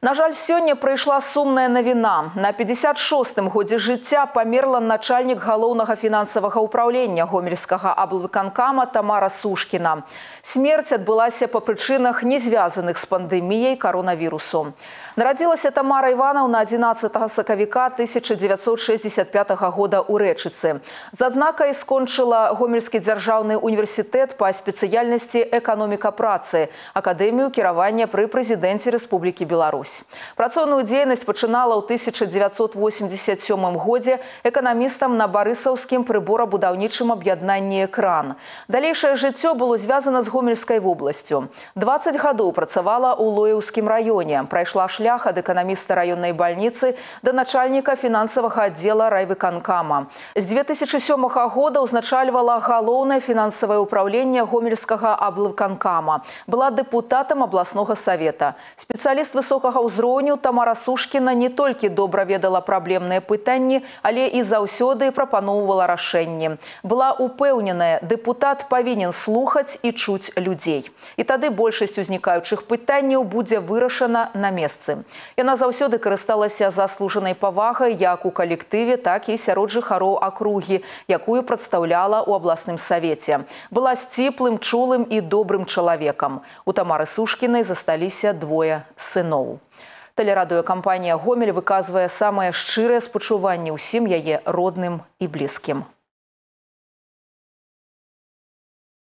На жаль, сёння прыйшла сумная навіна. На 56-м годзе жыцця памерла начальнік галоўнага фінансавага ўпраўлення гомельскага аблвыканкама Тамара Сушкіна. Смерць адбылася па прычынах, не звязаных з пандэміяй каронавірусу. Нарадзілася Тамара Іванаўна 11 сакавіка 1965 года ў Рэчыцы. З адзнакай скончыла Гомельскі дзяржаўны універсітэт па спецыяльнасці эканоміка працы, акадэмію кіравання пры прэзідэнце Рэспублікі Беларусь. Працоўную дзейнасць пачынала ў 1987 годзе эканамістам на барысаўскім прыборабудаўнічым аб'яднанні «Экран». Далейшае жыццё было звязана з Гомельскай вобласцю. 20 гадоў працавала ў Лоеўскім раёне, прайшла шлях ад эканаміста раённай бальніцы да начальніка фінансавага аддзела райвыканкама. З 2007 года ўзначальвала галоўнае фінансавае ўпраўленне Гомельскага аблвыканкама. Была дэпутатам абласнога савета. Спецыяліст высокага ўзроўню Тамара Сушкіна не толькі добра ведала праблемныя пытанні, але і заўсёды прапаноўвала рашэнні. Была упэўненая, дэпутат павінен слухаць і чуць людзей. І тады большасць узнікаючых пытанняў будзе вырашана на месцы. Яна заўсёды карысталася заслужанай павагай як у калектыве, так і сярод жыхароў акругі, якую прадстаўляла ў абласным савеце. Была сціплым, чулым і добрым чалавекам. У Тамары Сушкінай засталіся двое сыноў. Тэлерадыёкампанія «Гомель» выказвае самае шчырае спачуванне ўсім яе родным і блізкім.